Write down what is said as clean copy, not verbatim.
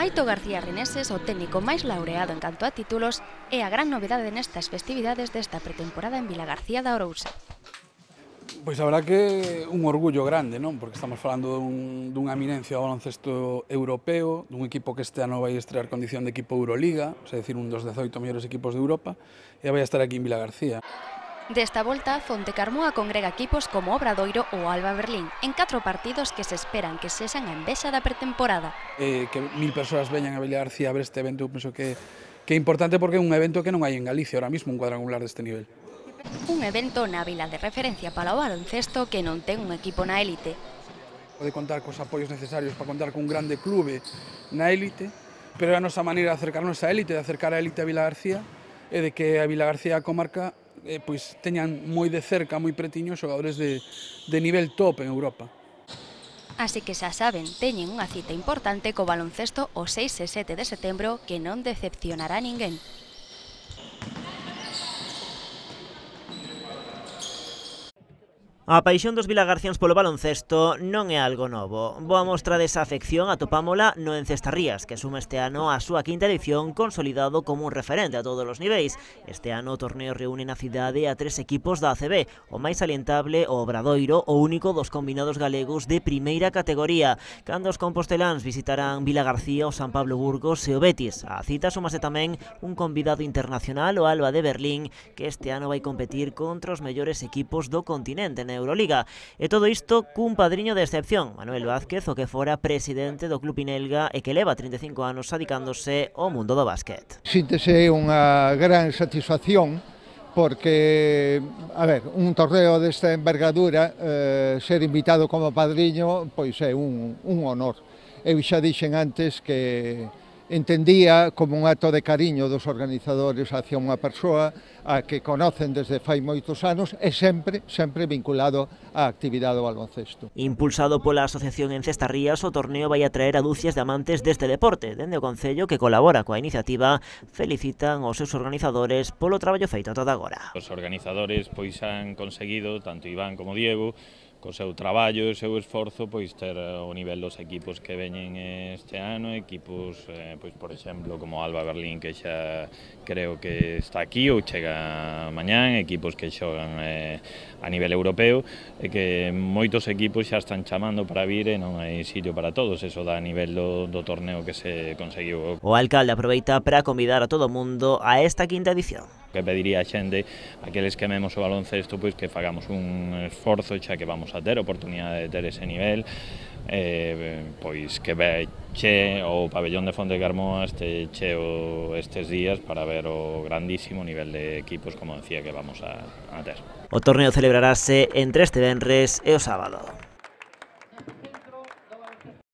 Aito García Reneses, o técnico máis laureado en canto a títulos, é a gran novedade nestas festividades desta pretemporada en Vilagarcía de Arousa. Pois a verdad que un orgullo grande, non? Porque estamos falando dunha eminencia do baloncesto europeo, dun equipo que este ano vai estrear condición de equipo Euroliga, é dicir, un dos 18 mellores equipos de Europa, e vai estar aquí en Vilagarcía. Desta volta, Fontecarmoa congrega equipos como Obradoiro ou Alba Berlín, en 4 partidos que se esperan que sexan a envexa da pretemporada. Que 1000 persoas veñan a Vilagarcía a ver este evento, penso que é importante porque é un evento que non hai en Galicia ahora mismo, un cuadrangular deste nivel. Un evento na vila de referencia para o baloncesto que non ten un equipo na élite. Pode contar cos apoios necesarios para contar cun grande clube na élite, pero a nosa maneira de acercarnos á élite, de acercar a élite a Vilagarcía, é de que a Vilagarcía a comarca pois teñan moi de cerca, moi pretiño, xogadores de nivel top en Europa. Así que xa saben, teñen unha cita importante co baloncesto o 6 e 7 de setembro que non decepcionará a ninguén. A paixón dos vilagarciáns polo baloncesto non é algo novo. Boa mostra desa afección atopámola no Encestarrías, que suma este ano a súa quinta edición consolidado como un referente a todos os niveis. Este ano o torneo reúne na cidade a 3 equipos da ACB, o máis salientable o Obradoiro, o único dos combinados galegos de primeira categoría, cando os composteláns visitarán Vilagarcía, o San Pablo Burgos e o Betis. A cita sumase tamén un convidado internacional, o Alba de Berlín, que este ano vai competir contra os mellores equipos do continente na Euroliga. E todo isto cun padriño de excepción, Manuel Vázquez, o que fora presidente do Club Inelga e que leva 35 anos adicándose ao mundo do básquet. Síntese unha gran satisfacción porque, a ver, un torneo desta envergadura, ser invitado como padriño, pois é un honor. Eu xa dixen antes que entendía como un acto de cariño dos organizadores hacia unha persoa a que conocen desde fai moitos anos e sempre vinculado á actividade do baloncesto. Impulsado pola Asociación Encestarrías, o torneo vai atraer a dúcias de amantes deste deporte. Dende o Concello, que colabora coa iniciativa, felicitan os seus organizadores polo traballo feito ata agora. Os organizadores pois han conseguido, tanto Iván como Diego, co seu traballo e o seu esforzo, pois ter o nivel dos equipos que veñen este ano, equipos, pois por exemplo, como Alba Berlín, que xa creo que está aquí ou chega mañán, equipos que xogan a nivel europeo, e que moitos equipos xa están chamando para vir e non hai sitio para todos, eso dá a nivel do torneo que se conseguiu. O alcalde aproveita para convidar a todo o mundo a esta quinta edición. Que pediría a xente, aqueles que amemos o baloncesto, pois que fagamos un esforzo, xa que vamos a ter oportunidade de ter ese nivel, pois que veche o pabellón de Fontecarmoa este cheo estes días para ver o grandísimo nivel de equipos, como decía, que vamos a ter. O torneo celebrarase entre este venres e o sábado.